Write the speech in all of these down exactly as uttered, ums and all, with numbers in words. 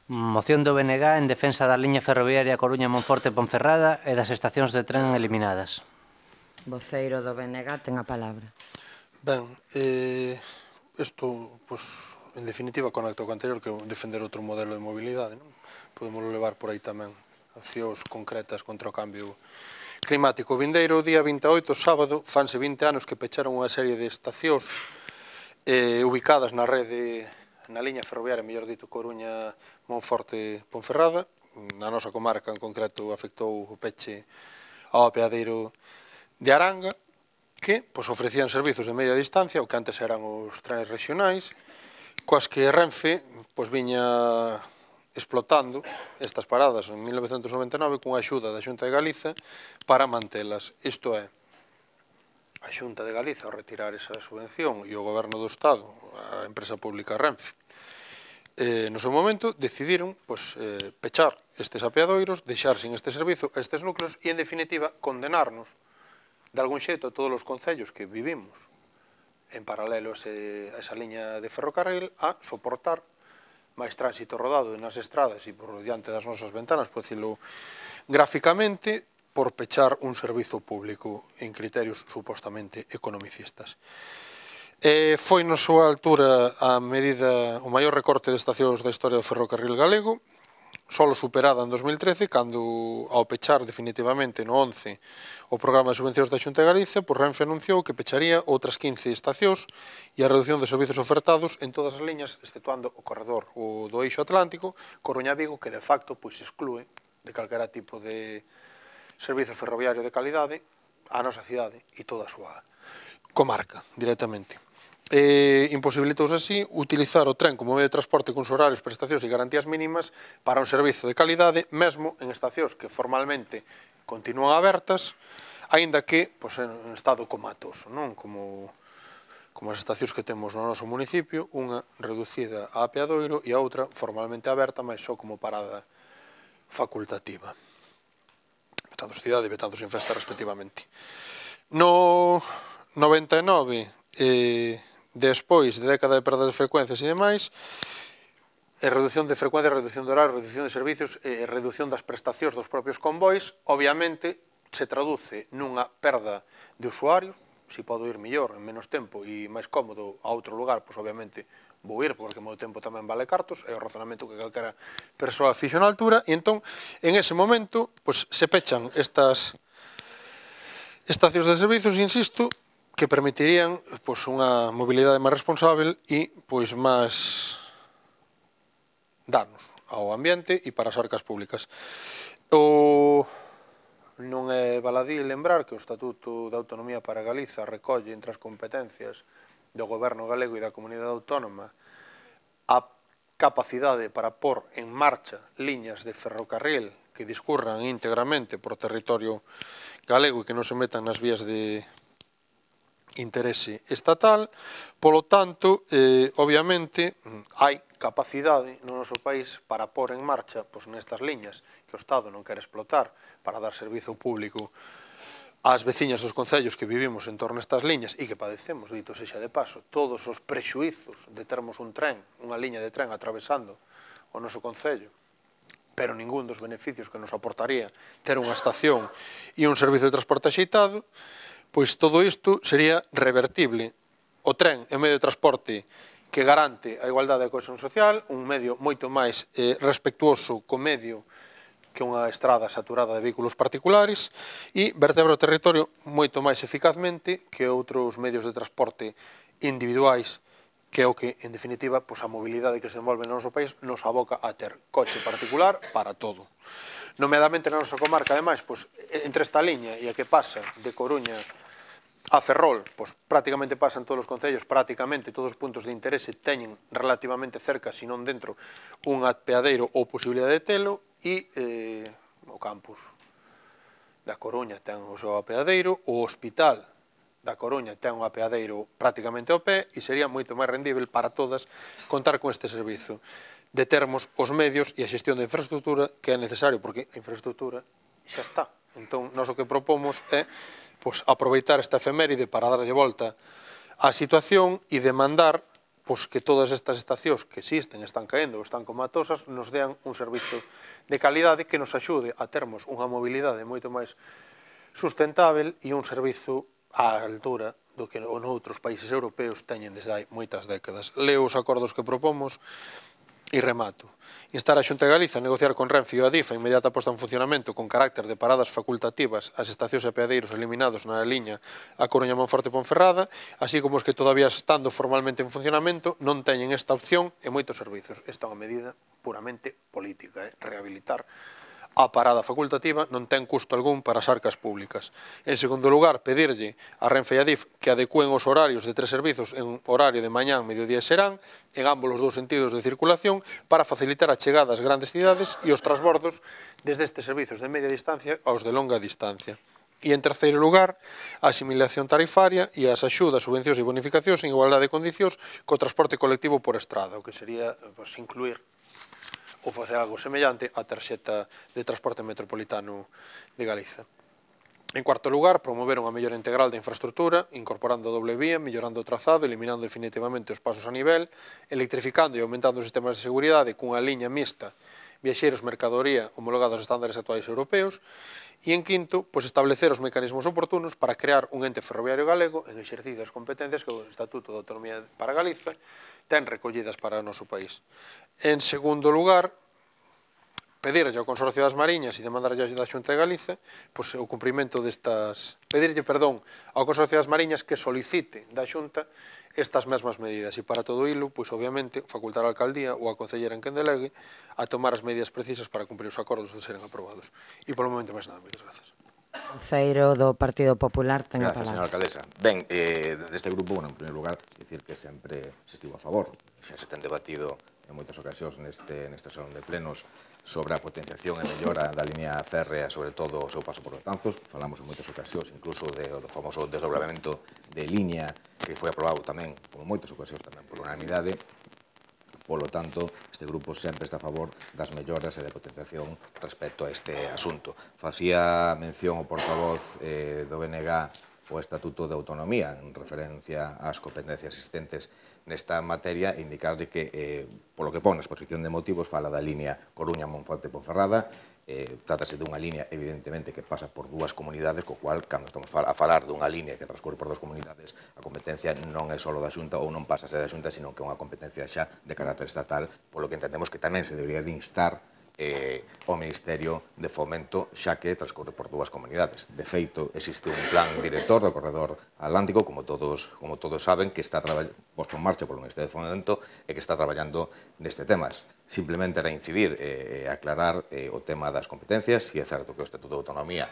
Moción do B N G en defensa da liña ferroviaria Coruña-Monforte-Ponferrada e das estacións de tren eliminadas. Voceiro do B N G ten a palabra. Ben, eh, isto, pues, en definitiva, conecta co anterior, que é defender outro modelo de mobilidade, non? Podemos levar por aí tamén accións concretas contra o cambio climático. O vindeiro día vinte e oito, sábado, fanse vinte anos que pecharon unha serie de estacións eh, ubicadas na rede, na liña ferroviaria, mellor dito, Coruña-Monforte-Ponferrada. Na nosa comarca, en concreto, afectou o peche ao apeadeiro de Aranga, que pues, ofrecían servizos de media distancia, o que antes eran os trenes regionais, coas que Renfe pues, viña explotando estas paradas en mil novecentos noventa e nove cunha axuda da Xunta de Galiza para mantelas. Isto é, a Xunta de Galiza, ao retirar esa subvención, e o Goberno do Estado, a empresa pública Renfe, eh, no seu momento, decidiron pues, eh, pechar estes apeadoiros, deixar sin este servizo estes núcleos e, en definitiva, condenarnos de algún xeito a todos os concellos que vivimos en paralelo a, ese, a esa liña de ferrocarril a soportar máis tránsito rodado nas estradas e por diante das nosas ventanas, por decirlo gráficamente, por pechar un servizo público en criterios supostamente economicistas. Eh, foi na súa altura a medida, o maior recorte de estacións da historia do ferrocarril galego, solo superada en dos mil trece, cando ao pechar definitivamente no once o programa de subvencións da Xunta de Galicia, por Renfe anunciou que pecharía outras quince estacións e a reducción de servizos ofertados en todas as liñas, exceptuando o corredor o do eixo atlántico, Coruña-Vigo, que de facto pois, exclúe de calquera tipo de servizo ferroviario de calidade a nosa cidade e toda a súa comarca, directamente. Eh, imposibilitouse así utilizar o tren como medio de transporte con horarios, prestacións e garantías mínimas para un servizo de calidade, mesmo en estacións que formalmente continúan abertas, aínda que pois, en estado comatoso, non? Como, como as estacións que temos no noso municipio, unha reducida a apeadoiro e a outra formalmente aberta, mas só como parada facultativa. Betanzos cidade e Betanzos en festa, respectivamente. No noventa e nove, eh, despois de década de perdas de frecuencias e demais, e reducción de frecuencia, reducción de horario, reducción de servicios e reducción das prestacións dos propios convois, obviamente se traduce nunha perda de usuarios. Se podo ir mellor, en menos tempo e máis cómodo a outro lugar, pois obviamente vou ir, porque o meu tempo tamén vale cartos, é o razonamento que calquera persoa fixo na altura, e entón, en ese momento, pois se pechan estas estacións de servizos, insisto, que permitirían pois, unha mobilidade máis responsável e pois, máis danos ao ambiente e para as arcas públicas. O... Non é baladí lembrar que o Estatuto de Autonomía para Galiza recolle entre as competencias do Goberno galego e da Comunidade Autónoma a capacidade para pôr en marcha liñas de ferrocarril que discurran íntegramente por territorio galego e que non se metan nas vías de interese estatal. Polo tanto, eh, obviamente, hai capacidade no noso país para pôr en marcha pois, nestas liñas que o Estado non quere explotar para dar servizo público ás veciñas dos concellos que vivimos en torno a estas liñas e que padecemos, dito sexa de paso, todos os prexuizos de termos un tren, unha liña de tren atravesando o noso concello, pero ningún dos beneficios que nos aportaría ter unha estación e un servizo de transporte axeitado, pois todo isto sería revertible. O tren é un medio de transporte que garante a igualdade e a cohesión social, un medio moito máis eh, respectuoso co medio que unha estrada saturada de vehículos particulares e vertebra o territorio moito máis eficazmente que outros medios de transporte individuais, que é o que, en definitiva, pois a mobilidade que se envolve no noso país nos aboca a ter coche particular para todo. Nomeadamente na nosa comarca, ademais, pois, entre esta liña e a que pasa de Coruña a Ferrol, pois prácticamente pasan todos os concellos, prácticamente todos os puntos de interese teñen relativamente cerca, se non dentro, un apeadeiro ou posibilidade de telo, e eh, o campus da Coruña ten o seu apeadeiro, o hospital da Coruña ten un apeadeiro prácticamente ao pé, e sería moito máis rendível para todas contar con este servizo, de termos os medios e a xestión da infraestructura que é necesario, porque a infraestructura xa está. Entón, nós o que propomos é pois, aproveitar esta efeméride para darlle volta á situación e demandar pois que todas estas estacións que existen, están caendo, están comatosas, nos dean un servizo de calidade que nos axude a termos unha mobilidade moito máis sustentável e un servizo á altura do que noutros países europeos teñen desde hai moitas décadas. Leo os acordos que propomos e remato. Instar a Xunta de Galiza a negociar con Renfe e o Adif a inmediata posta en funcionamento con carácter de paradas facultativas as estacións e apeadeiros eliminados na liña A Coruña, Monforte e Ponferrada, así como os que todavía estando formalmente en funcionamento non teñen esta opción e moitos servizos. Esta é unha medida puramente política, eh? Rehabilitar a parada facultativa non ten custo algún para as arcas públicas. En segundo lugar, pedirlle a Renfe e a Adif que adecúen os horarios de tres servizos en horario de mañán, mediodía e serán, en ambos os dous sentidos de circulación, para facilitar a chegada ás grandes cidades e os transbordos desde estes servizos de media distancia aos de longa distancia. E, en terceiro lugar, a asimilación tarifaria e as axudas, subvencións e bonificacións en igualdade de condicións co transporte colectivo por estrada, o que sería pues, incluir ou facer algo semellante á tarxeta de transporte metropolitano de Galiza. En cuarto lugar, promover unha mellora integral da infraestructura, incorporando doble vía, mellorando o trazado, eliminando definitivamente os pasos a nivel, electrificando e aumentando os sistemas de seguridade cunha liña mixta viaxeiros mercadoría homologados aos estándares actuais europeos, e en quinto, pois establecer os mecanismos oportunos para crear un ente ferroviario galego en exercicio das competencias que o Estatuto de Autonomía para Galiza ten recollidas para o noso país. En segundo lugar, pedirlle ao Consorcio das Mariñas e demandarlle da Xunta de Galiza pois, o cumprimento destas... pedirlle, perdón, ao Consorcio das Mariñas que solicite da Xunta estas mesmas medidas e para todo hilo, pois obviamente, facultar a alcaldía ou a concellera en quen delegue a tomar as medidas precisas para cumprir os acordos de seren aprobados. E polo momento máis nada, moitas grazas. Conceiro do Partido Popular ten a Gracias, palabra. señora alcaldesa. Ben, eh, deste grupo, bueno, en primeiro lugar, dicir que sempre se estivo a favor, xa se ten debatido en moitas ocasións neste, neste salón de plenos sobre a potenciación e mellora da línea férrea, sobre todo o seu paso por Betanzos. Falamos en moitas ocasións, incluso de, do famoso desdobramento de línea que foi aprobado tamén, como moitas ocasións tamén, por unanimidade. Polo tanto, este grupo sempre está a favor das melloras e da potenciación respecto a este asunto. Facía mención o portavoz eh, do B N G o Estatuto de Autonomía en referencia ás competencias existentes nesta materia e indicarlle que, eh, polo que pon na exposición de motivos, fala da línea Coruña, Monforte e Ponferrada. Eh, trátase dunha línea, evidentemente, que pasa por dúas comunidades, co cual, cando estamos a falar dunha línea que transcorre por dúas comunidades, a competencia non é só da Xunta ou non pasa a ser da Xunta, sino que é unha competencia xa de carácter estatal, polo que entendemos que tamén se debería de instar eh, o Ministerio de Fomento, xa que transcorre por dúas comunidades. De feito, existe un plan director do Corredor Atlántico, como todos, como todos saben, que está posto en marcha polo Ministerio de Fomento e que está traballando neste temas. Simplemente era incidir e eh, aclarar eh, o tema das competencias, e é certo que o Estatuto de Autonomía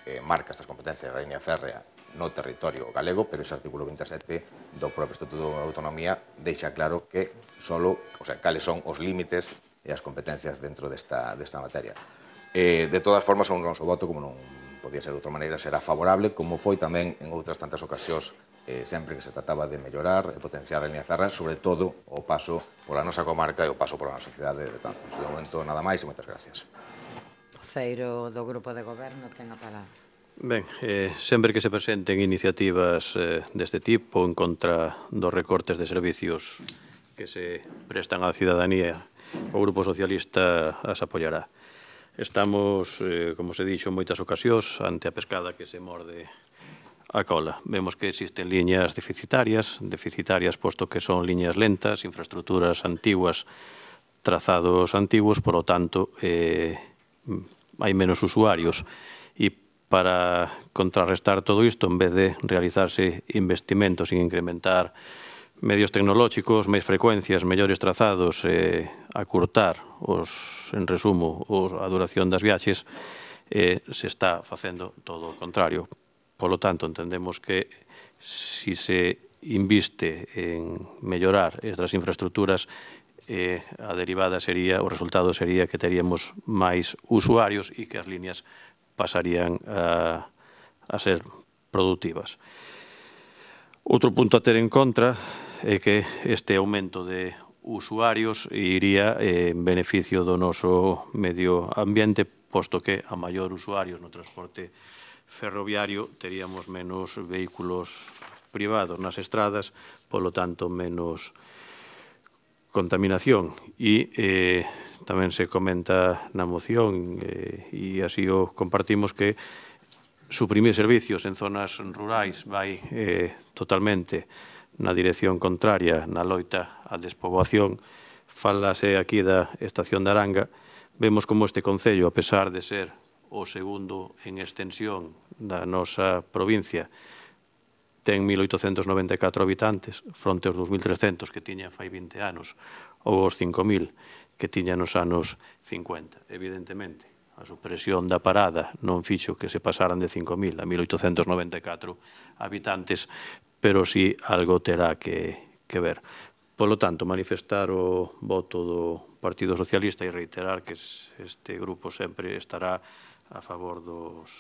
eh, marca estas competencias da línea férrea no territorio galego, pero ese artículo veintisiete do propio Estatuto de Autonomía deixa claro que solo, o sea, cales son os límites e as competencias dentro desta, desta materia. Eh, de todas formas, o noso voto, como non podía ser de outra maneira, será favorable, como foi tamén en outras tantas ocasións, eh, sempre que se trataba de mellorar e potenciar a línea férrea, sobre todo o paso pola nosa comarca e o paso pola nosa cidade de Betanzos. De momento, nada máis e moitas gracias. Conceiro do Grupo de Goberno ten a palabra. Ben, eh, sempre que se presenten iniciativas eh, deste tipo en contra dos recortes de servicios que se prestan á cidadanía, o Grupo Socialista as apoiará. Estamos, eh, como se dixo en moitas ocasións, ante a pescada que se morde a cola. Vemos que existen liñas deficitarias, deficitarias posto que son liñas lentas, infraestructuras antiguas, trazados antiguos, por lo tanto, eh, hai menos usuarios. E para contrarrestar todo isto, en vez de realizarse investimentos sin incrementar medios tecnolóxicos, máis frecuencias, mellores trazados, eh, acurtar, os, en resumo, os, a duración das viaxes, eh, se está facendo todo o contrario. Polo tanto, entendemos que si se inviste en mellorar estas infraestructuras, eh, a derivada sería, o resultado sería que teríamos máis usuarios e que as líneas pasarían a, a ser productivas. Outro punto a ter en contra é que este aumento de usuarios iría en beneficio do noso medio ambiente, posto que a maior usuarios no transporte ferroviario teríamos menos vehículos privados nas estradas, polo tanto menos contaminación. E eh, tamén se comenta na moción, eh, e así o compartimos, que suprimir servicios en zonas rurais vai eh, totalmente na dirección contraria na loita á despoboación. Falase aquí da estación de Aranga. Vemos como este concello, a pesar de ser o segundo en extensión da nosa provincia, ten mil oitocentos noventa e catro habitantes, fronte aos dous mil trescentos que tiña fai vinte anos, ou aos cinco mil que tiña nos anos cincuenta. Evidentemente, a supresión da parada non fixo que se pasaran de cinco mil a mil oitocentos noventa e catro habitantes, pero sí algo terá que, que ver. Polo tanto, manifestar o voto do Partido Socialista e reiterar que este grupo sempre estará a favor dos,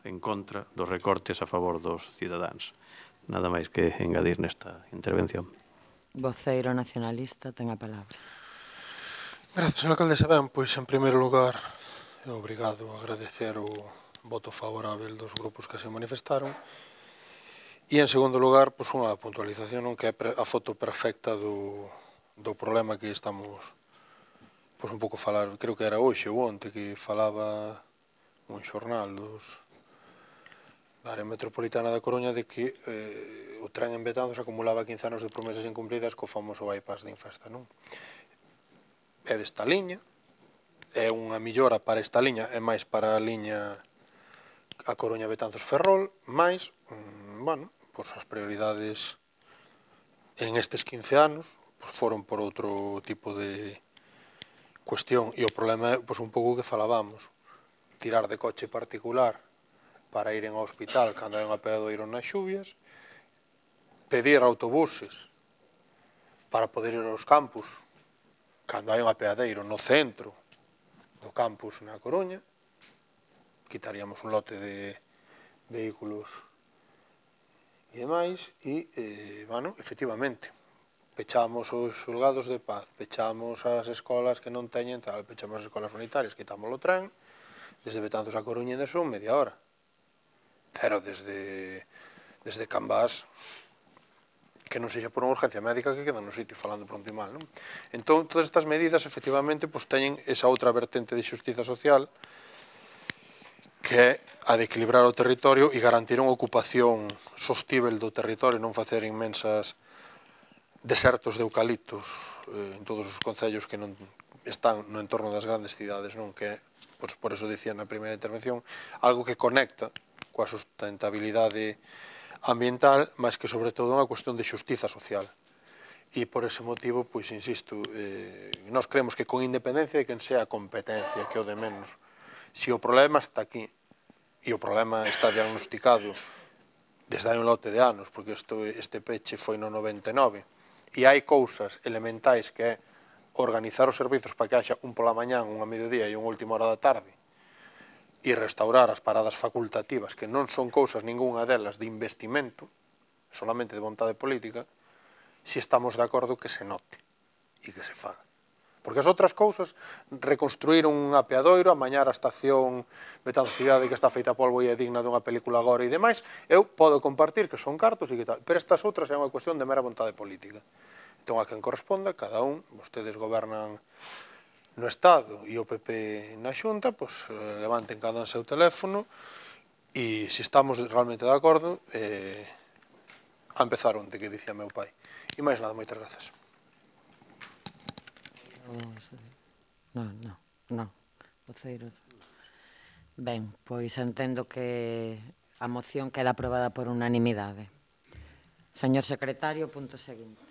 en contra dos recortes a favor dos cidadáns. Nada máis que engadir nesta intervención. Voceiro nacionalista, ten a palabra. Grazas, señor alcaldesa. Ben, pois, en primeiro lugar, é obrigado a agradecer o voto favorável dos grupos que se manifestaron. E, en segundo lugar, pois, unha puntualización, non, que é a foto perfecta do, do problema que estamos, pois, un pouco falar, creo que era hoxe ou onte, que falaba un xornal dos da área metropolitana da Coruña de que eh, o tren en Betanzos acumulaba quince anos de promesas incumpridas co famoso bypass de Infesta, non? É desta liña, é unha millora para esta liña, é máis para a liña a Coruña Betanzos Ferrol, máis, mm, bueno, pois as prioridades en estes quince anos pois foron por outro tipo de cuestión, e o problema é pois un pouco que falábamos, tirar de coche particular para ir ao hospital cando hai un apeadoiro nas xuvias, pedir autobuses para poder ir aos campus cando hai un apeadeiro no centro do campus na Coruña, quitaríamos un lote de vehículos e demais, e, eh, bueno, efectivamente, pechamos os xulgados de paz, pechamos as escolas que non teñen tal, pechamos as escolas unitarias, quitamos o tren, desde Betanzos a Coruña ainda son media hora. Pero desde, desde Cambás, que non sexa por unha urgencia médica que queda no sitio, falando pronto e mal, non? Entón, todas estas medidas, efectivamente, pois, teñen esa outra vertente de xustiza social, que é a de equilibrar o territorio e garantir unha ocupación sostível do territorio, non facer inmensas desertos de eucaliptos eh, en todos os concellos que non están no entorno das grandes cidades, non? Que é, pois, por eso dicía na primeira intervención, algo que conecta coa sustentabilidade ambiental, mas que, sobre todo, é unha cuestión de xustiza social. E, por ese motivo, pois, insisto, eh, nós creemos que con independencia de quen sea a competencia, que o de menos, se o problema está aquí, e o problema está diagnosticado desde hai un lote de anos, porque isto, este peche foi no noventa e nove, e hai cousas elementais que é organizar os servizos para que haxa un pola mañán, un a mediodía e unha última hora da tarde, e restaurar as paradas facultativas, que non son cousas ningunha delas de investimento, solamente de vontade política, se estamos de acordo que se note e que se faga. Porque as outras cousas, reconstruir un apeadoiro, amañar a estación Betanzos Cidade que está feita a polvo e é digna dunha película agora e demais, eu podo compartir que son cartos e que tal, pero estas outras é unha cuestión de mera vontade política. Entón, a quen corresponda, cada un, vostedes gobernan no Estado e o P P na Xunta, pois levanten cada un seu teléfono e se estamos realmente de acordo, eh, a empezar onte, que dicía meu pai. E máis nada, moitas grazas. Non, non, non. Voceiro. Ben, pois entendo que a moción queda aprobada por unanimidade. Señor secretario, punto seguinte.